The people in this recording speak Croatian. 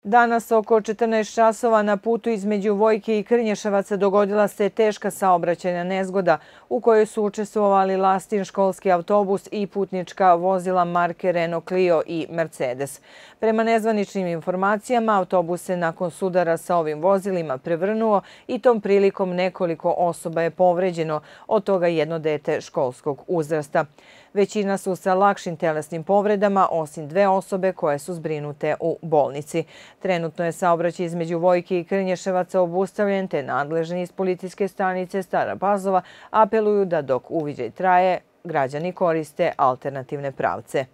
Danas oko 14 časova na putu između Vojke i Krnješevaca dogodila se teška saobraćajna nezgoda u kojoj su učestvovali Lastin školski autobus i putnička vozila marke Renault Clio i Mercedes. Prema nezvaničnim informacijama, autobus se nakon sudara sa ovim vozilima prevrnuo i tom prilikom nekoliko osoba je povređeno, od toga jedno dete školskog uzrasta. Većina su sa lakšim telesnim povredama, osim 2 osobe koje su zbrinute u bolnici. Trenutno je saobraćaj između Vojke i Krnješevaca obustavljen, te nadležni iz policijske stanice Stara Pazova apeluju da dok uviđaj traje, građani koriste alternativne pravce.